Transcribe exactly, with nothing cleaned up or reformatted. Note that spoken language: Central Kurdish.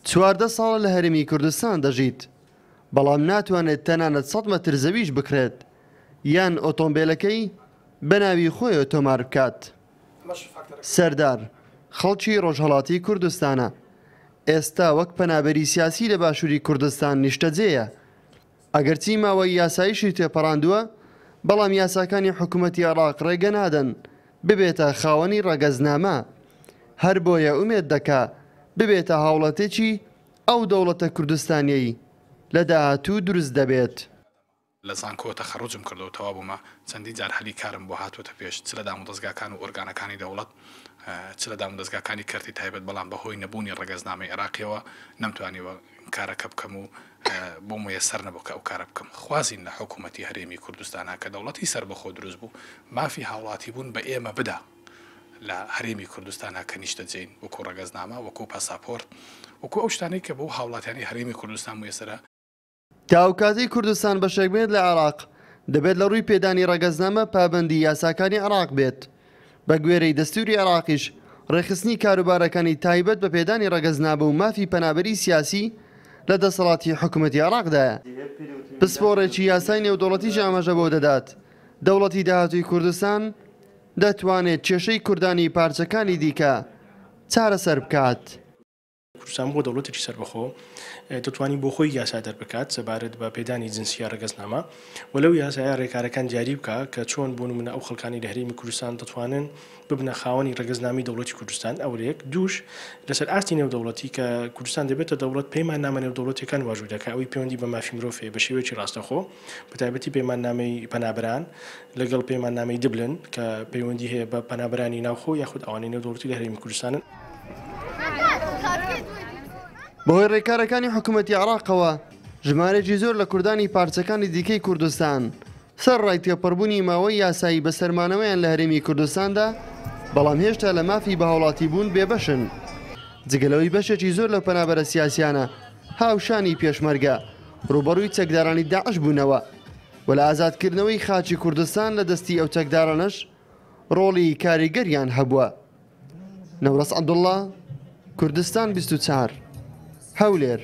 چواردە ساڵە لە هەرێمی کوردستان دەژیت، بەڵام ناتوانێت تەنانەت سەد مەتر زەویش بکرێت یان ئۆتۆمبیلەکەی بە ناوی خۆیەوە تۆمار بکات. سەردار خەڵکی ڕۆژهەڵاتی کوردستانە، ئێستا وەک پەنابەری سیاسی لە باشووری کوردستان نیشتەجێیە. ئەگەرچی ماوەی یاساییشی تێپەڕاندووە، بەڵام یاساکانی حکوومەتی عێراق ڕێگە نادەن ببێتە خاوەنی ڕەگەزنامە، هەر بۆیە ئومێد دەکا ببێتە هاوڵاتێکی ئەو دەوڵەتە کوردستانیەی لە داهاتوو دروست دەبێت. لە زانکۆ تەخەڕوجم کردەوە تەوا بوومە، چەندین جار هەلی کارم بۆ هاتووەتە پێش، چ لە دامودەزگاکان و ئۆرگانەکانی دەوڵەت، چ لە دامودەزگاکانی کەرتی تایبەت، بەڵام بەهۆی نەبوونی ڕەگەزنامەی عێراقیەوە نەمتوانیوە کارەکە بکەم و بۆ میسەر نەبوو کە ئەو کارە بکەم. خوازین لە حکوومەتی هەرێمی کوردستانە کە دەوڵەتی سەربەخۆ دروست بوو مافی هاوڵاتی بوون بە ئێمە بدا لە هەرێمی کوردستانە کە نیشتەجێین، وەکو ڕەگەزنامە، وەکو پاساپۆرت، وەکو ئەو شتانەی کە بۆ هاوڵاتیانی هەرێمی کوردستان میسەرە. تا ئەو کاتەی کوردستان بەشێک بێت لە عێراق، دەبێت لە ڕووی پێدانی ڕەگەزنامە پابەندی یاساکانی عێراق بێت. بە گوێرەی دەستوری عێراقیش ڕێکخستنی کاروبارەکانی تایبەت بە پێدانی ڕەگەزنامە و مافی پەنابەری سیاسی لە دەسەڵاتی حکوومەتی عێراقدایە. پسپۆڕێکی یاسای نێودەوڵەتیش ئاماژە بۆ دەدات دەوڵەتی داهاتووی کوردستان دەتوانێت کێشەی کوردانی پارچەکانی دیکە چارەسەر بکات. کوردستان بۆ دەوڵەتێکی سەربەخۆ دەتوانانی بۆ خۆی یاسا دەربکات سەبارەت بە پێدانی جنسیە ڕەگەزنامە و لەو یاسایە ڕێکارەکان دیاری بکە کە چۆن بۆ نمونە ئەو خەڵکانی لە هەرێمی کوردستان دەتوانن ببنە خاوەنی ڕەگەزنامەی دەوڵەتی کوردستان. ئەولێک دووش لەسەر ئاستی نێودەوڵەتی کە کوردستان دەبێتە دەوڵەت پەیماننامە نێودەوڵەتیەکان واژوو دەکات، ئەوەی پەیوەندی بە مافی مرۆڤ هەیە بە شێوەیەکی ڕاستەخۆ، بە تایبەتی پەیماننامەی پەنابەران لەگەڵ پەیماننامەی دبلن کە پەیوەندی هەیە بە پەنابەرانی ناوخۆ یاخود ئەوانەی نێودەوڵەتی لە هەرێمی کوردستانن. بەهۆی ڕێکارەکانی حکوومەتی عێراقەوە ژمارەیەکی زۆر لە کوردانی پارچەکانی دیکەی کوردستان سەر ڕای تێپەڕبوونی ماوەی یاسایی بەسەرمانەوەیان لە هەرێمی کوردستاندا، بەڵام هێشتا لە مافی بەهاوڵاتی بوون بێبەشن. جگە لەوەی بەشێکی زۆر لە پەنابەرە سیاسیانە هاوشانی پێشمەرگە ڕووبەڕووی چەکدارانی داعش بوونەوە و لە ئازادکردنەوەی خاکی کوردستان لە دەستی ئەو چەکدارانەش ڕۆڵی کاریگەریان هەبووە. نەورەس عەبدوڵڵا، کوردستان بیست و چوار، هەولێر.